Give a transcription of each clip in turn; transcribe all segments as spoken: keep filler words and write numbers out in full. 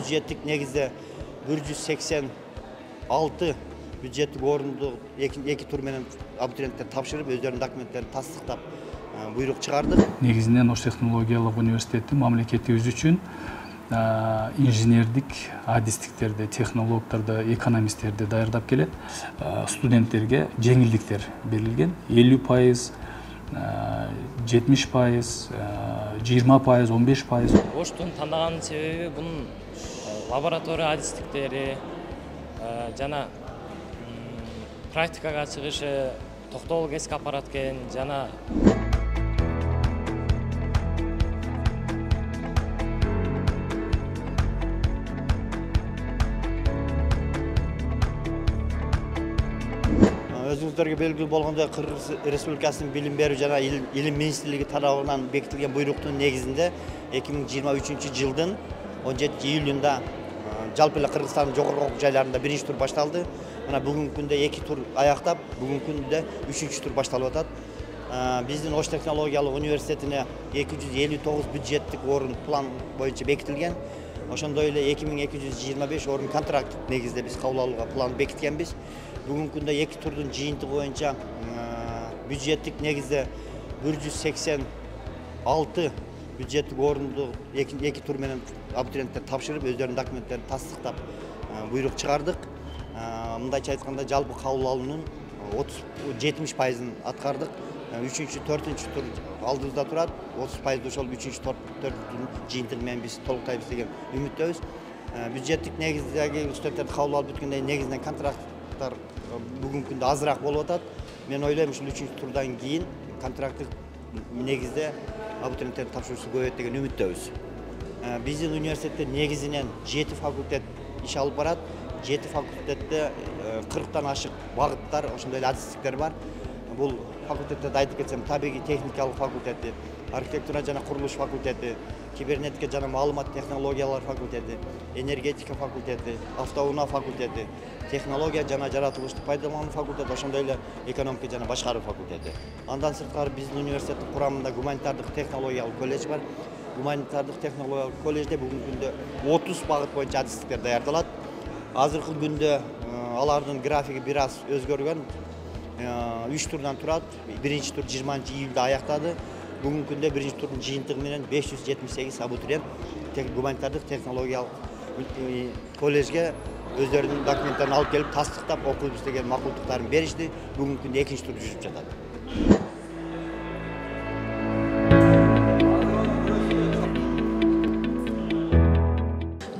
бюджеттик негизде бир жүз сексен алты бюджеттик орунду эки тур менен абитуриенттер тапшырып, өздөрүнүн документтерин тастыктап буйрук чыгардык. Негизинен Ош технологиялык университети мамлекетибиз үчүн инженердик, адистиктерди, технологдорду, экономисттерди даярдап келет. Студенттерге жеңилдиктер берилген. элүү пайыз, жетимиш пайыз, жыйырма пайыз, он беш пайыз. Оштун тандаган себеби бунун лаборатория адистиктери жана практикага чыгышы, токтогул кесип апарат экен жана Өзүңүздөргө белгилүү болгондой, Кыргыз Республикасынын билим берүү жана илим министрлиги тарабынан бекитилген буйруктун негизинде эки миң жыйырма үчүнчү жылдын он жетинчи июлунда жалпы эле Кыргызстандын жогорку окуу жайларында биринчи тур башталды. Мына бүгүнкү күндө эки тур аяктап, бүгүнкү күндө үчүнчү тур башталып атат. Биздин Ош технологиялык университетине эки жүз элүү тогуз бюджеттик орун план боюнча бекитилген. Ошондой эле эки миң эки жүз жыйырма беш орун контракт негизде биз кабыл алууга план бекиткенбиз. Бүгүнкү күндө эки турдун жыйынтыгы боюнча бюджеттик негизде бир жүз сексен алты бюджеттик орунду эки тур менен абитуриенттер тапшырып, өздөрүнүн документтерин тастыктап буйрук чыгардык. Мындайча айтканда, жалпы кабыл алуунун жетимиш пайызын аткардык. үчүнчү, төртүнчү тур алдыбызда турат. отуз пайызды ошол үчүнчү, төртүнчү жыйынтыгы менен биз толуктайбыз деген үмүттөбүз. Бюджеттик негиздеги студенттерди кабыл алып бүткөндөн кийин негизинен контракттар бүгүнкү күндө азыраак болуп атат. Мен ойлойм, ушул үчүнчү турдан кийин контракттык негизде абитуриенттердин тапшыруусу көбөйөт деген үмүттөбүз. Биздин университетте негизинен жети факультет иш алып барат. жети факультетте кырктан ашык багыттар, ошондой эле адистиктер бар. Бул факультеттерди айтып кетсем, табигый техникалык факультети, архитектура жана курулуш факультети, кибернетика жана маалымат технологиялар факультети, энергетика факультети, автоунаа факультети, технология жана жаратылыштык пайдалануу факультети, ошондой эле экономика жана башкаруу факультети. Андан сырткары биздин университеттин курамында гуманитардык технологиялык колледж бар. Гуманитардык технологиялык колледжде бүгүнкү күндө отуз багыт боюнча адистиктер даярдалат. Азыркы күндө алардын графиги бир аз өзгөргөн. үч турдан турат. Биринчи тур жыйырманчы июлда аяктады. Бүгүнкү күндө биринчи турдун жыйынтыгы менен беш жүз жетимиш сегиз абитуриент гуманитардык технологиялык колледжге өздөрүнүн документтерин алып келип, тастыктап окуйбуз деген макулдуктарын беришти. Бүгүнкү күндө экинчи тур жүрүп жатат.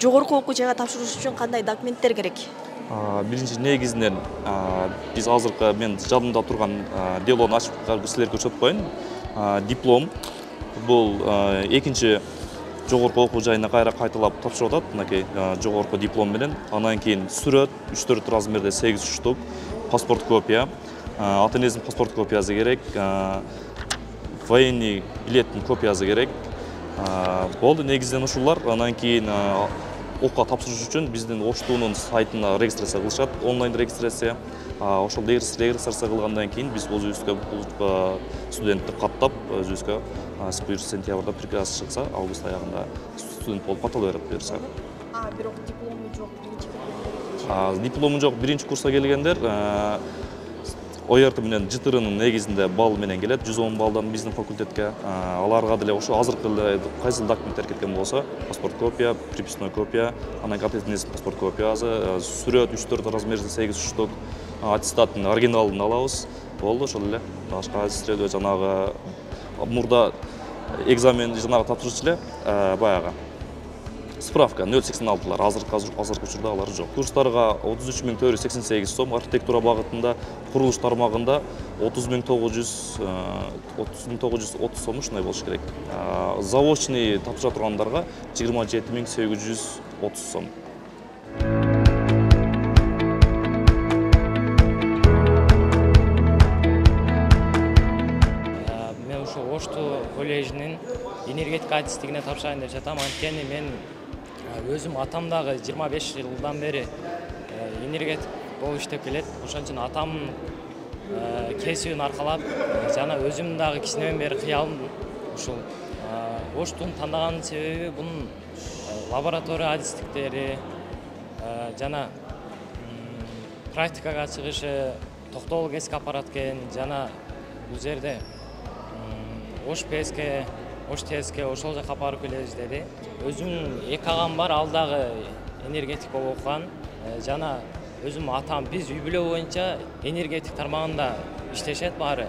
Жогорку окуу жайга тапшырыш үчүн кандай документтер керек? Биринчи негизинен биз азыркы мен жадымда турган делону ачып силерге көрсөтүп коеюн. Диплом бул экинчи жогорку окуу жайына кайра кайталап тапшырып атат. Мынакей жогорку диплом менен. Андан кийин сүрөт үч төрт размерде сегиз штук, паспорт копия, ата энесинин паспорт копиясы керек, военный билеттин копиясы керек. Болду, негизинен ушулар. Андан кийин окуга тапшырыш үчүн биздин Оштунун сайтына регистрация кылышат, онлайн регистрация. Ошол регистрация кылгандан кийин биз өзүбүзгө бул студентти каттап, өзүбүзгө сентябрда приказ чыкса, август аягында студент болуп ката берет буюрса. А, бирок диплому жок, биринчи курска. Диплому жок, биринчи курска келгендер О Е Р Т менен Ж Т Р'нын негизинде балл менен келет, жүз он баллдан биздин факультетке. Аларга деле ошо азыркы эле кайсы документтер кеткен болсо, паспорт копия, приписной копия, анан кийин паспорт копиясы, сүрөт үч төрт размерде сегиз штук, аттестаттын оригиналын алабыз. Болду, ошол эле. Башка аттестаттарды жанагы мурда экзамен жанагы тапшырчу эле, баягы справка нөл сексен алтылар, азыркы азыркы учурда алар жок. Курстарга отуз үч миң төрт жүз сексен сегиз сом, архитектура багытында, курулуш тармагында отуз миң тогуз жүз отуз сом ушундай болуш керек. Заочный тапшыра тургандарга жыйырма жети миң сегиз жүз отуз сом. Мен ошо Ошту колледжинин энергетика адистигине тапшырайын деп жатам. Анткени мен өзүм атам дагы жыйырма беш жылдан бери энергетик болуп иштеп келет. Ошон үчүн атамдын кесибин аркалап жана өзүм дагы кичинеден бери кыялым ушул Оштун тандаган себеби бунун лаборатория адистиктери жана практикага чыгышы токтогул кесик аппарат экен жана бул жерде ош пске ош теске ошол жака барып келебиз деди. Өзүм эки агам бар, ал дагы энергетик болуп окуган жана өзүм атам биз үй бүлө боюнча энергетик тармагында иштешет баары.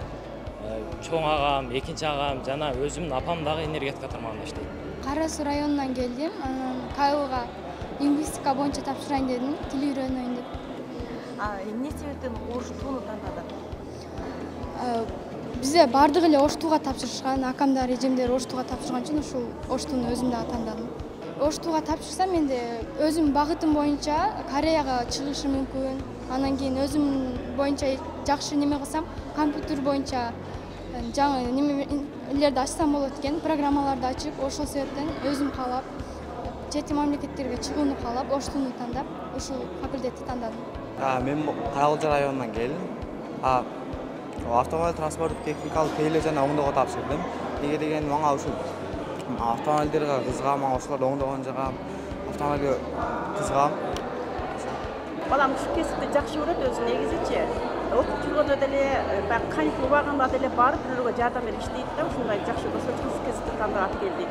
Чоң агам, экинчи агам жана өзүмдүн апам дагы энергетика тармагында иштейт. Кара Суу районунан келдим. Анан КАИЛга лингвистика боюнча тапшырайын дедим, тил үйрөнөйүн деп. Эмне себептен ош тууну тандадың? Бизде бардык эле ош тууга тапшырышкан, акамдар, эжемдер ош тууга тапшырган үчүн ушул ош тууну өзүм дагы тандадым. Ош тууга тапшырсам менде өзүм багытым боюнча Кореяга чыгышым мүмкүн. Анан кийин өзүм боюнча жакшы неме кылсам, компьютер боюнча жаңы немелерди ачсам болот экен, программаларды ачып, ошол себептен өзүм каалап, чет мамлекеттерге чыгууну каалап, ош тууну тандап, ушул факультетти тандадым. Мен Каракөлчө районунан келдим. Автомобиль транспорттук техникалык тейлөө жана оңдоого тапшырдым. Эмне дегенде мага ушул автомобилдерге кызыгам, мага ошолорду оңдогон жагам, автомобилге кызыгам. Балам ушул кесипти жакшы көрөт өзү негизичи. Окуп жүргөндө деле баягы каникул убагында деле барып бирөөгө жардам берип иштейт да, ушундай жакшы көрсө ушул кесипти тандап келдик.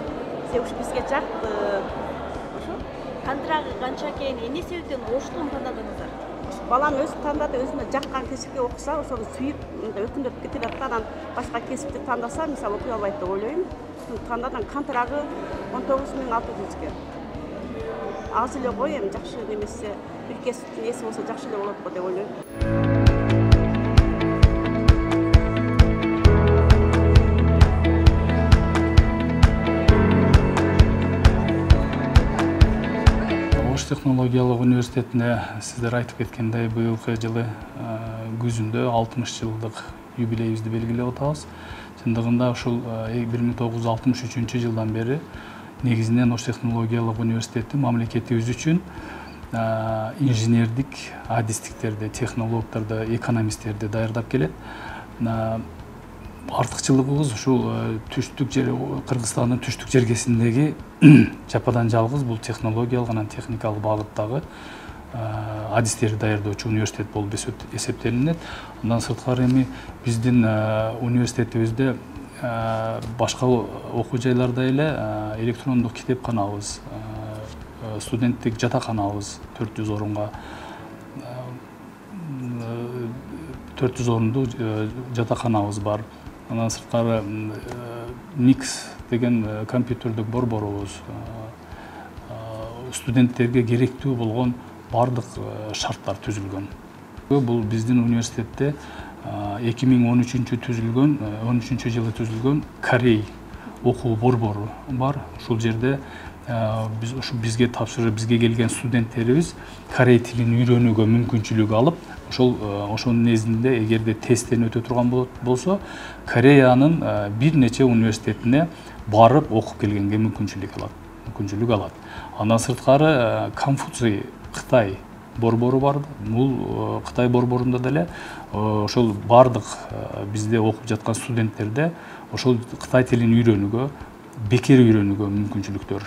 Себеби ушу бизге жакты. Ошо. Контрагы канча экен, эмне себептен ош тууну тандадыңыздар? Балам өзү тандады, өзүнө жаккан кесипке окуса, ошону сүйүп өкүндөп кетип атат. Анан башка кесипти тандаса, мисалы окуй албайт деп ойлойм. Тандадым, контрагы он тогуз миң алты жүзгө. Аз эле кой, эми жакшы немесе, бир кесиптин эси болсо жакшы эле болот го деп ойлойм. Ош технологиялык университетине сиздер айтып кеткендей быйылкы жылы күзүндө алтымыш жылдык юбилейибизди белгилеп атабыз. Чындыгында ушул бир миң тогуз жүз алтымыш үчүнчү жылдан бери негизинен Ош технологиялык университети мамлекетибиз үчүн инженердик адистиктерди, технологдорду, экономисттерди даярдап келет. Артыкчылыгыбыз ушул түштүк жер, Кыргызстандын түштүк жергесиндеги жападан жалгыз бул технологиялык анан техникалык багыттагы адистерди даярдоочу университет болуп эсептелинет. Андан сырткары эми биздин университетибизде башка окуу жайларда эле электрондук китепканабыз, студенттик жатаканабыз төрт жүз орунга төрт жүз орундуу жатаканабыз бар. Андан сырткары Никс деген компьютердик борборубуз, студенттерге керектүү болгон бардык шарттар түзүлгөн. Бул биздин университетте эки миң он үчүнчү түзүлгөн, он үчүнчү жылы түзүлгөн Корей окуу борбору бар. Ушул жерде биз ушу бизге тапшырып, бизге келген студенттерибиз корей тилин үйрөнүүгө мүмкүнчүлүк алып, ошол ошонун негизинде эгерде тесттен өтө турган болсо, Кореянын бир нече университетине барып окуп келгенге мүмкүнчүлүк алат, мүмкүнчүлүк алат. Андан сырткары Конфуций Кытай борбору бар. Бул Кытай борборунда деле ошол бардык бизде окуп жаткан студенттерде ошол Кытай тилин үйрөнүүгө, бекер үйрөнүүгө мүмкүнчүлүктөр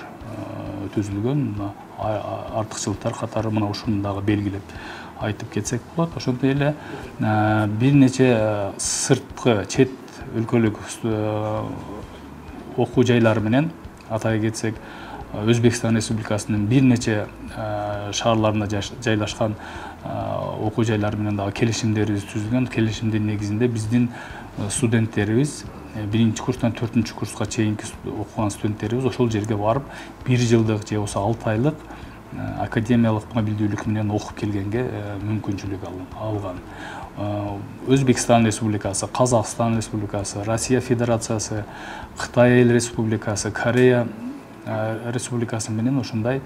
түзүлгөн. Артыкчылыктар катары мына ушуну дагы белгилеп айтып кетсек болот. Ошондой эле бир нече сырткы чет өлкөлүк окуу жайлары менен атай кетсек, Өзбекстан Республикасынын бир нече шаарларында жайлашкан окуу жайлары менен дагы келишимдерибиз түзүлгөн. Келишимдин негизинде биздин студенттерибиз биринчи курстан төртүнчү курска чейинки окуган студенттерибиз ошол жерге барып бир жылдык же болбосо алты айлык академиялык мобилдүүлүк менен окуп келгенге мүмкүнчүлүк алган. Өзбекстан Республикасы, Казакстан Республикасы, Россия Федерациясы, Кытай Эл Республикасы, Корея Республикасы менен ошондой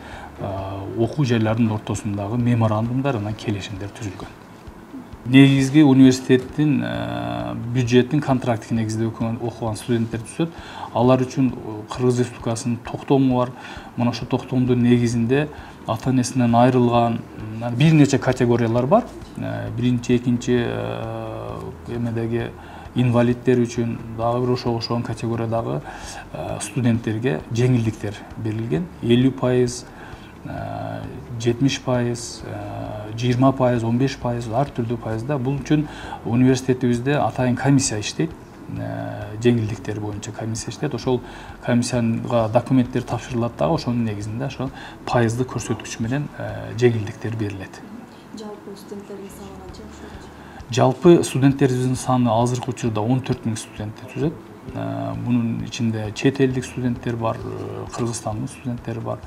окуу жайларынын ортосундагы меморандумдар анан келишимдер түзүлгөн. Негизги университеттин бюджеттин контрактик негизде окуган студенттер түсөт. Алар үчүн Кыргыз Республикасынын токтому бар. Мына ошо токтомдун негизинде ата-энесинен айрылган бир нече категориялар бар. Биринчи, экинчи эмедеги инвалидтер үчүн дагы бир ошого окшогон категориядагы студенттерге жеңилдиктер берилген. элүү пайыз, жетимиш пайыз, жыйырма пайыз, он беш пайыз, ар түрдүү пайызда. Бул үчүн университетибизде атайын комиссия иштейт. Жеңилдиктер боюнча комиссия иштейт. Ошол комиссияга документтер тапшырылат дагы, ошонун негизинде ошо пайыздык көрсөткүч менен жеңилдиктер берилет. Жалпы студенттердин саны канча? Жалпы студенттерибиздин саны азыркы учурда он төрт миң студентти түзөт. Мунун ичинде чет элдик студенттер бар, Кыргызстандын студенттери бар.